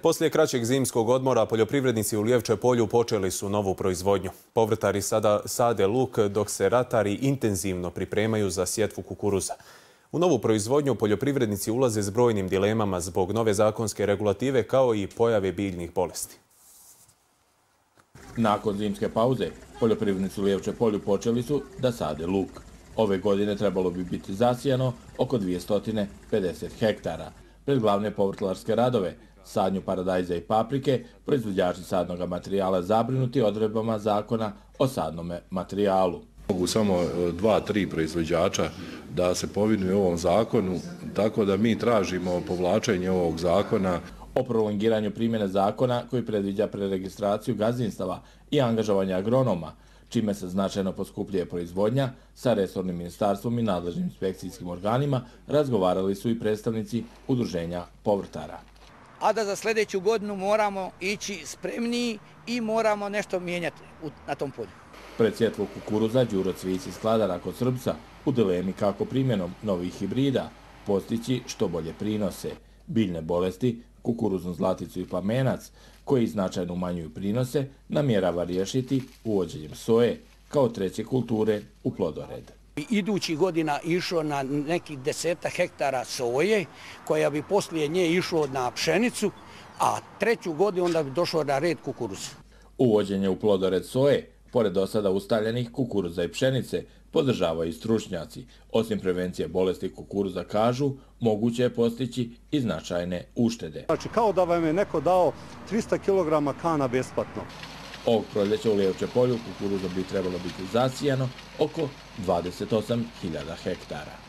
Poslije kraćeg zimskog odmora poljoprivrednici u Lijevče polju počeli su novu proizvodnju. Povrtari sada sade luk dok se ratari intenzivno pripremaju za sjetvu kukuruza. U novu proizvodnju poljoprivrednici ulaze s brojnim dilemama zbog nove zakonske regulative kao i pojave biljnih bolesti. Nakon zimske pauze, poljoprivrednici u Lijevče polju počeli su da sade luk. Ove godine trebalo bi biti zasijano oko 250 hektara. Pred glavne povrtlarske radove, sadnju paradajza i paprike, proizvođači sadnog materijala zabrinuti odredbama zakona o sadnom materijalu. Mogu samo 2-3 proizvođača da se povinuju ovom zakonu, tako da mi tražimo povlačenje ovog zakona. O prolongiranju primjene zakona koji predviđa preregistraciju gazdinstava i angažovanje agronoma, čime se značajno poskupljuje proizvodnja, sa resornim ministarstvom i nadležnim inspekcijskim organima razgovarali su i predstavnici udruženja povrtara. A da za sljedeću godinu moramo ići spremniji i moramo nešto mijenjati na tom polju. Pred sjetvu kukuruza Đuro Cvijić iz Kladara kod Srbca u dilemi kako primjenom novih hibrida postići što bolje prinose. Biljne bolesti, kukuruznu zlaticu i plamenac, koji značajno umanjuju prinose, namjerava riješiti uvođenjem soje kao treće kulture u plodored. Idući godina išlo na nekih 10 hektara soje, koja bi poslije nje išlo na pšenicu, a treću godinu onda bi došlo na red kukuruz. Uvođenje u plodored soje, pored do sada ustaljenih kukuruza i pšenice, podržavaju i stručnjaci. Osim prevencije bolesti kukuruza, kažu, moguće je postići i značajne uštede. Znači, kao da vam je neko dao 300 kg kana besplatno. Ovog proljeća u Lijevče polju kukuruza bi trebalo biti zasijano oko 28.000 hektara.